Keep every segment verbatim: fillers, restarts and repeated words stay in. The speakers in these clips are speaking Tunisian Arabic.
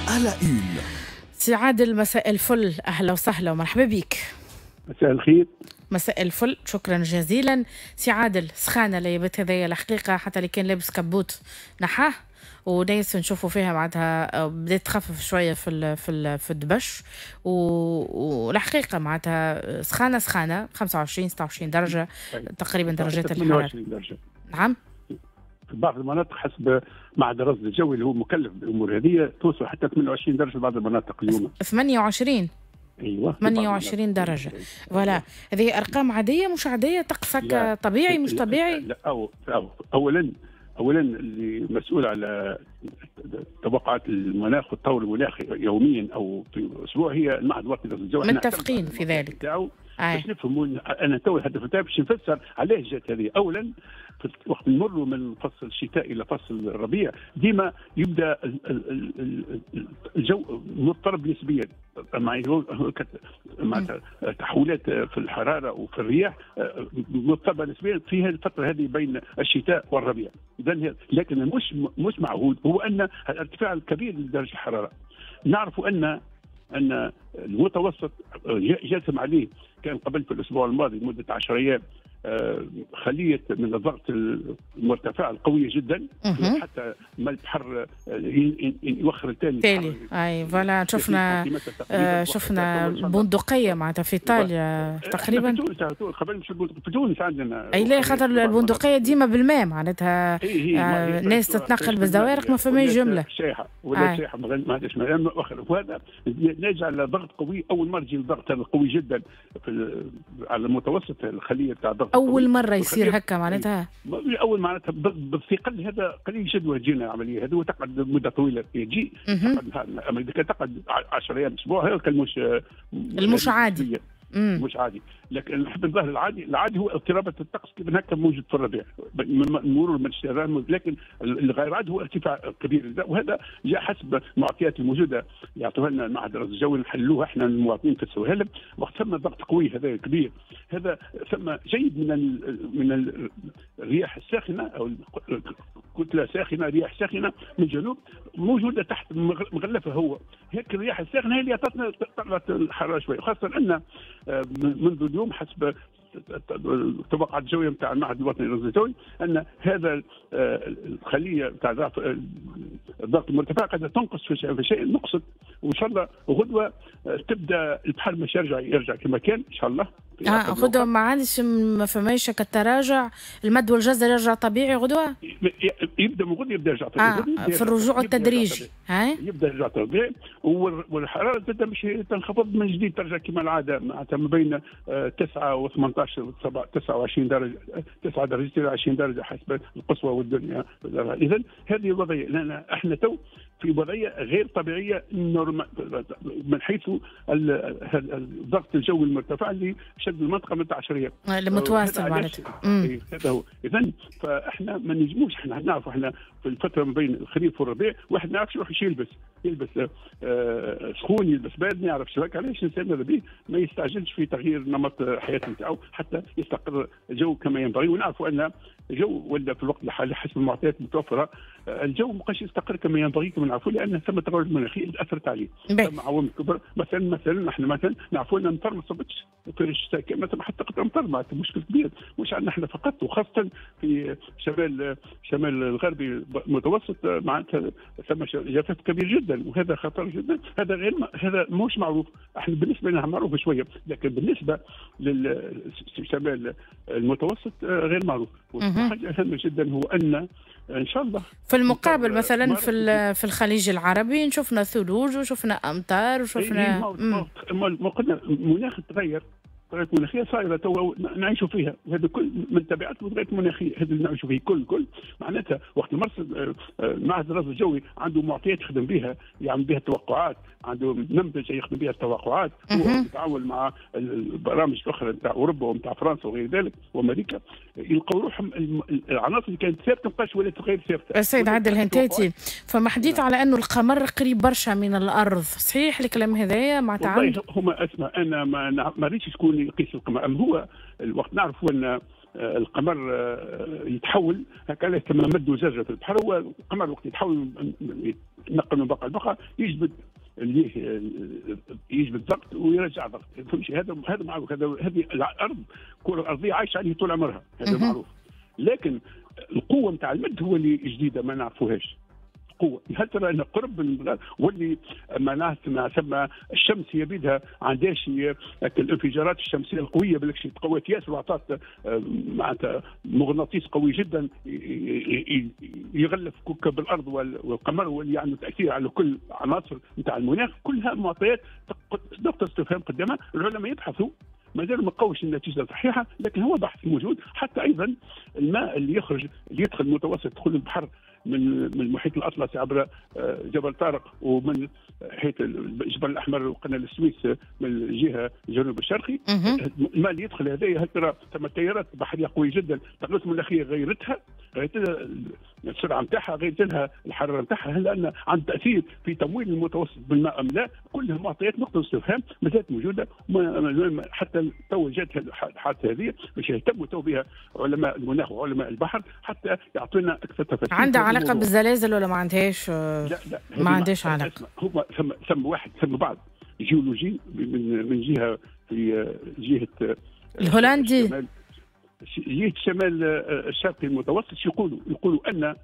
à la une. سي عادل، مساء الفل، أهلا وسهلا ومرحبا بك. مساء الخير. مساء الفل، شكرا جزيلا سي عادل. سخانة ليبت هذايا الحقيقة، حتى اللي كان لابس كبوت نحاه، وناس نشوفوا فيها معناتها بدات تخفف شوية في ال في ال في الدبش، والحقيقة معناتها سخانه سخانه خمسة وعشرين ستة وعشرين درجه تقريبا درجات الحرارة. ثمانية وعشرين درجه. نعم. في بعض المناطق حسب معهد الرصد الجوي اللي هو مكلف بالامور هذه توصل حتى ثمانية وعشرين درجه في بعض المناطق اليوم. ثمانية وعشرين. ايوه ثمانية وعشرين درجه. voilà، هذه ارقام عادية مش عادية؟ طقسك طبيعي مش طبيعي؟ لا، أو أو اولا اولا اللي مسؤول على توقعات المناخ والتطور المناخي يوميا او في اسبوع هي المعهد الوطني للرصد الجوي. متفقين في ذلك. باش نفهموا انا تو الهدف نتاعي باش نفسر علاش جات هذه. اولا وقت نمروا من فصل الشتاء الى فصل الربيع ديما يبدا الجو مضطرب نسبيا، مع مع تحولات في الحرارة وفي الرياح مضطربة نسبيا في الفترة هذه بين الشتاء والربيع. اذا لكن مش مش معهود هو ان الارتفاع الكبير لدرجة الحرارة. نعرف ان ان المتوسط جاسم عليه كان قبل في الاسبوع الماضي لمدة عشرة ايام خليه من الضغط المرتفع القوية جدا حتى ما البحر يوخر الثاني تالي. اي voilà، شفنا آه شفنا البندقية معناتها في ايطاليا تقريبا. في تونس قبل مش في تونس عندنا. اي لا، خاطر البندقية ديما بالماء معناتها. آه ناس تتنقل بالزوارق ما فماش جملة. شايحه ولا شايحه ما عندهاش ماء. وهذا ناجع على ضغط قوي. اول مرة يجي الضغط هذا قوي جدا في على المتوسط الخلية تاع الضغط. اول مرة يصير هكا معناتها. اول معناتها بالثقل هذا قليل جدا تجينا العملية هذه وتقعد مده طويلة تجي. اما اذا كان تقعد عشرة ايام اسبوع هذا مش المش عادي. مش عادي. لكن نحب الظاهر العادي، العادي هو اضطرابات الطقس كيف هكا موجود في الربيع مرور من الشتاء، لكن الغير عادي هو ارتفاع كبير، وهذا جاء حسب المعطيات الموجودة يعطوها لنا المعهد الرصد الجوي نحلوها احنا المواطنين في السواحل. وقت ثم ضغط قوي هذا كبير، هذا ثم جيد من من الرياح الساخنة او كتلة ساخنة، رياح ساخنة من الجنوب موجودة تحت مغلفه هو هيك الرياح الساخنة هي اللي اعطتنا طلعت الحرارة شوية، خاصة ان منذ اليوم حسب التوقعات الجوية نتاع المعهد الوطني للرصد الجوي ان هذا الخلية نتاع الضغط المرتفع قد تنقص في شيء نقصت، وان شاء الله غدوه تبدا البحر مش يرجع يرجع كما كان ان شاء الله. اه غدوه ما عادش ما فماش كالتراجع، المد والجزر يرجع طبيعي غدوه؟ يبدا من غدوه يبدا يرجع طبيعي. آه في الرجوع التدريجي. هاي يبدا يرجع طبيعي، والحرارة تبدا مش تنخفض من جديد ترجع كما العادة معناتها ما بين تسعة و ثمانية عشر و تسعة وعشرين درجه، تسعة درجات الى عشرين درجه حسب القصوى والدنيا. اذا هذه الوضعية لان احنا تو في وضعية غير طبيعية من حيث الضغط الجوي المرتفع اللي شد المنطقة من عشرة ايام المتواصل معناتها. هذا هو. اذا فاحنا ما نجموش، احنا نعرفوا احنا في الفترة ما بين الخريف والربيع واحد ما يعرفش يروح يلبس، يلبس آه سخون يلبس بارد ما يعرفش. علاش الانسان ماذا به ما يستعجلش في تغيير نمط حياته نتاعو حتى يستقر الجو كما ينبغي. ونعرفوا ان الجو ولا في الوقت الحالي حسب المعطيات المتوفرة الجو ما بقاش يستقر كما ينبغي كما نعرفوا، لان ثم تغير مناخي اللي اثرت عليه. ثم عوامل كبرى، مثلا مثلا احنا مثلا نعرفوا ان المطر ما صبتش في الشتاء مثلا، حتى قطرة مطر معناتها مشكل كبير مش عندنا احنا فقط، وخاصة في شمال شمال الغربي المتوسط معناتها ثم جفاف كبير جدا وهذا خطر جدا. هذا غير هذا مش معروف، احنا بالنسبة لنا معروف شوية، لكن بالنسبة للشمال المتوسط غير معروف. وحاجه هامة جدا هو ان ان شاء الله في المقابل مثلا في في الخليج العربي شفنا ثلوج وشفنا امطار وشفنا ما قلنا المناخ تغير، التغيرات المناخية صايرة تو نعيشوا فيها، وهذا كل من تبعات التغيرات المناخية هذا اللي نعيشوا فيه كل كل معناتها. وقت المرصد المعهد الرصد الجوي عنده معطيات يخدم بها، يعمل بها التوقعات، عنده نمذجه يخدم بها التوقعات، هو يتعاون مع البرامج الاخرى نتاع اوروبا ونتاع فرنسا وغير ذلك وامريكا، يلقوا روحهم العناصر اللي كانت ثابتة ما بقاش ولات غير ثابتة. السيد عادل هنتاتي، فما حديث على انه القمر قريب برشا من الارض، صحيح الكلام هذايا معناتها؟ هما اسمع انا ما ما ريتش شكون يقيس القمر، اما هو الوقت نعرفوا ان القمر يتحول هكا ثم مد وزجه في البحر. هو القمر وقت يتحول يتنقل من بقعة لبقعه يجبد يجبد ضغط ويرجع ضغط، فهمتي؟ هذا هذا معروف، هذا هذه الارض الكره الارضية عايشه عليه طول عمرها، هذا معروف. لكن القوة نتاع المد هو اللي جديدة ما نعرفوهاش. قوة هل ترى ان قرب من واللي معناها ثم الشمس هي بيدها عندهاش الانفجارات الشمسية القوية بالك تقوت ياسر واعطت معناتها مغناطيس قوي جدا يغلف كوكب الارض والقمر واللي عنده تاثير على كل عناصر نتاع المناخ. كلها معطيات نقطة استفهام قدامها، العلماء يبحثوا ما زالوا ما لقوش النتيجة الصحيحة، لكن هو بحث موجود. حتى ايضا الماء اللي يخرج اللي يدخل المتوسط يدخل البحر من من المحيط الاطلسي عبر جبل طارق ومن حيث الجبل الاحمر وقناة السويس من الجهة الجنوب الشرقي، الماء اللي يدخل هذايا هل ترى ثم تيارات بحرية قوية جدا، التغيرات المناخية غيرتها، غيرت لها السرعة نتاعها، غيرت لها الحرارة نتاعها، هل ان عند تاثير في تمويل المتوسط بالماء ام لا؟ كلها معطيات نقطة استفهام ما زالت موجودة حتى تو جات الحادثة هذه باش يهتموا تو بها علماء المناخ وعلماء البحر حتى يعطونا اكثر تفاصيل. عندها علاقة بالزلازل ولا ما عندهاش؟ لا لا ما عندهاش علاقة. هو ثم ثم واحد ثم بعض جيولوجي من من جهة في جهة الهولندي جهة الشمال الشرقي المتوسط يقولوا يقولوا ان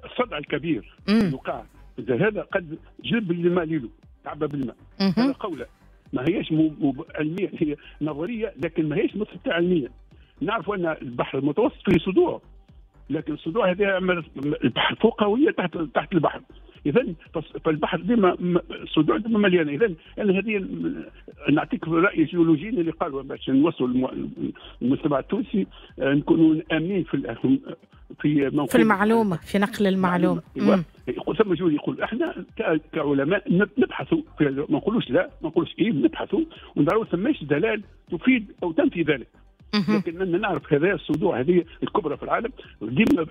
الصدع الكبير اللي وقع هذا قد جلب الماء ليلو تعبى بالماء. هذا قوله ما هيش علمية، هي نظرية لكن ما هيش مثبتة علميا. نعرف ان البحر المتوسط فيه صدوع، لكن الصدوع هذه البحر فوقها وهي تحت تحت البحر. اذا فالبحر ديما الصدوع ديما مليانة. اذا انا هذه نعطيك راي جيولوجيين اللي قالوا باش نوصلوا المجتمع التونسي نكونوا امنين في في في المعلومة، في نقل المعلومة. ثم جول يقول احنا كعلماء نبحثوا، ما نقولوش لا ما نقولوش ايه، نبحثوا ونراو ثماش دلائل تفيد او تنفي ذلك. لكن نعرف هذا الصدوع هذه الكبرى في العالم ديما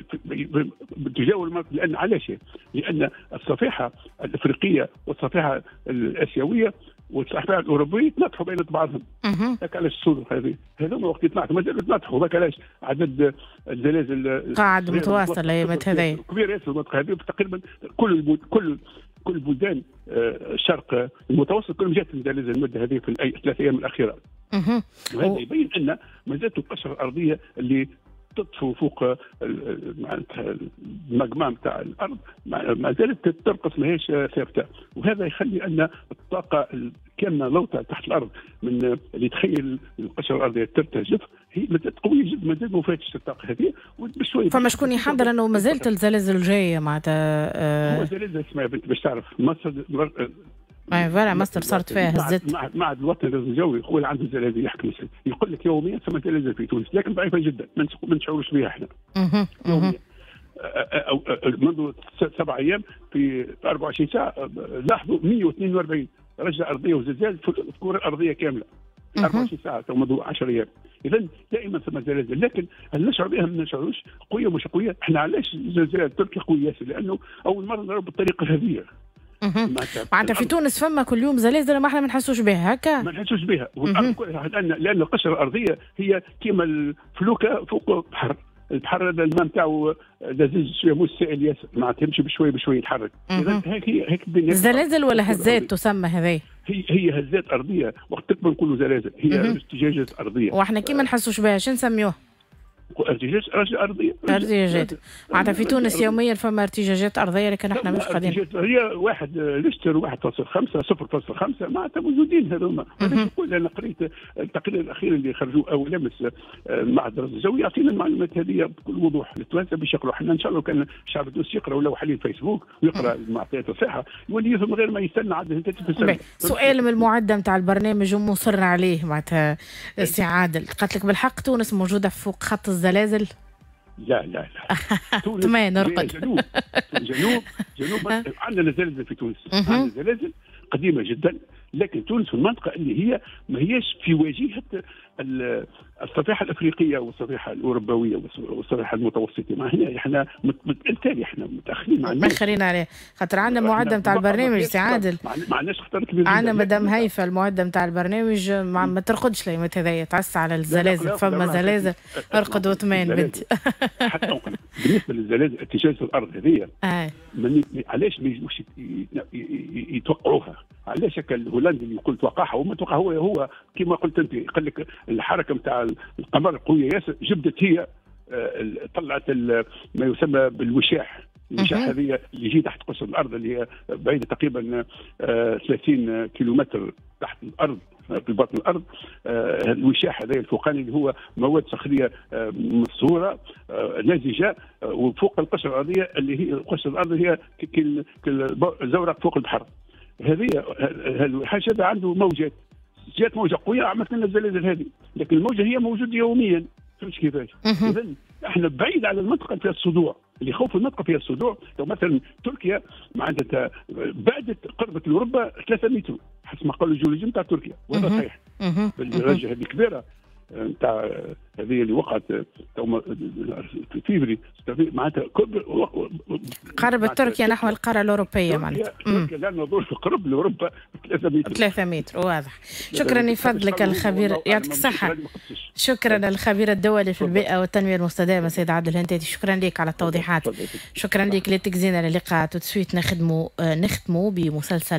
بتجاور المنطقة. لان علاش؟ لان الصفيحه الافريقية والصفيحه الاسيوية والصفيحه الاوروبية يتناطحوا بين بعضهم. هذاك علاش الصدوع هذه هذوما وقت يتناطحوا مازالوا يتناطحوا. هذاك علاش عدد الزلازل قاعد متواصل الايامات هذه كبير ياسر المنطقة هذه. تقريبا كل كل كل بلدان الشرق المتوسط كلهم جات الزلازل المدة هذه في الثلاث ايام الاخيرة. وهذا يبين ان ما زالت القشرة الارضية اللي تطفو فوق معناتها الماجما نتاع الارض ما زالت ترقص، ماهيش ثابتة. وهذا يخلي ان الطاقة الكاملة لوطه تحت الارض من اللي تخيل القشرة الارضية ترتجف هي ما زالت قوية جدا، ما زالت ما فاتش الطاقة هذه وبشويه. فما شكون يحضر انه ما زالت الزلازل الجاية معناتها؟ هو زلازل اسمع بنت باش تعرف مصر اي voilà مصر صارت فيها هزت. معهد الوطني الجوي هو اللي عنده الزلازل يحكم، يقول لك يوميا ثم زلازل في تونس لكن ضعيفة جدا ما نشعروش بها احنا. يوميا منذ سبع ايام في أربعة وعشرين ساعة لاحظوا مئة واثنين وأربعين رجه ارضية وزلزال في الكره الارضية كاملة في أربعة وعشرين ساعة منذ عشرة ايام. اذا دائما ثم زلازل، لكن هل نشعر بها ما نشعروش؟ قوية مش قوية. احنا علاش الزلزال التركي قوي ياسر؟ لانه اول مرة نرى بالطريقة هذه. معناتها في تونس فما كل يوم زلازل ما احنا ما نحسوش بها هكا؟ ما نحسوش بها، لان لان القشرة الارضية هي كيما الفلوكه فوق البحر، البحر هذا الماء نتاعو لذيذ شوية مش سائل ياسر، معناتها يمشي بشوية بشوية يتحرك. اذا هيك هي هيك الدنيا. زلازل ولا هزات تسمى هذه؟ هي هي هزات ارضية، وقت تكبر نقولوا زلازل، هي ارتجاجات ارضية. واحنا كي ما نحسوش بها شنو نسميوها؟ ارتجاج ارضية. ارتجاجات معناتها في تونس يوميا فما ارتجاجات ارضية لكن احنا مش قادرين. هي واحد ريشتر واحد فاصل خمسة صفر فاصل خمسة معناتها موجودين هذوما. نقول انا قريت التقرير الاخير اللي خرجوه اول امس معهد الرصد الجوي يعطينا المعلومات هذه بكل وضوح للتوانسه باش يقراوا. احنا ان شاء الله كان الشعب التونسي يقرا ولو حاليا فيسبوك ويقرا المعطيات الصحيحة يولي يفهم غير ما يستنى عاد. سؤال من المعدة نتاع البرنامج ومصر عليه معناتها سي عادل، قالت لك بالحق تونس موجودة فوق خط الزلازل؟ لا لا لا تونس نرقد. جنوب جنوب جنوب عندنا زلازل في تونس، عندنا زلازل قديمة جدا، لكن تونس في المنطقة اللي هي ما هيش في واجهه الصفيحه الافريقية والصفيحه الاوروبويه والصفيحه المتوسطيه، ما هنا احنا بالتالي احنا متاخرين. متاخرين عليه خاطر عندنا معده نتاع البرنامج سي عادل، ما عندناش خطر كبير. عندنا مدام هيفا المعدة نتاع البرنامج ما, ما ترقدش ليمت هذايا، تعس على الزلازل، فما زلازل ارقد وطمان بنتي. حتى بالنسبة للزلازل ارتجاج الارض هذه علاش ما يجوش يتوقعوها؟ علاش هكا الهولندي اللي يقول توقعها وما توقع؟ هو هو كما قلت انت، قال لك الحركة نتاع القمر قوية ياسر، جبدت هي طلعت ما يسمى بالوشاح. الوشاح هذه اللي يجي تحت قشر الارض اللي هي بعيدة تقريبا ثلاثين كيلومتر تحت الارض في بطن الارض. الوشاح هذا الفوقاني اللي هو مواد صخريه مصهوره لزجه وفوق القشرة الارضية اللي هي القشرة الارضية هي كالزورق فوق البحر. هذه الحاجة هذا عنده موجات، جات موجه قوية عملت لنا الزلازل هذه، لكن الموجه هي موجودة يوميا. فهمت كيفاش؟ اذا احنا بعيد على المنطقة فيها الصدوع، اللي خوف المنطقة فيها الصدوع. لو مثلا تركيا معناتها بعدت قربت لاوروبا ثلاثة متر حسب ما قالوا الجيولوجيين نتاع تركيا، وهذا صحيح. بالرجه هذه كبيرة نتاع هذه اللي وقعت في فيفري معناتها قربت تركيا نحو القارة الاوروبية معناتها. تركيا لان قرب لاوروبا ثلاثة متر. ثلاثة متر واضح. شكرا لفضلك الخبير، يعطيك الصحة. شكرا الخبير الدولي في البيئة والتنمية المستدامة سيد عادل الهنتاتي، شكرا لك على التوضيحات. شكرا لك لتجزينا اللقاء. tout de suite نخدموا نختموا بمسلسل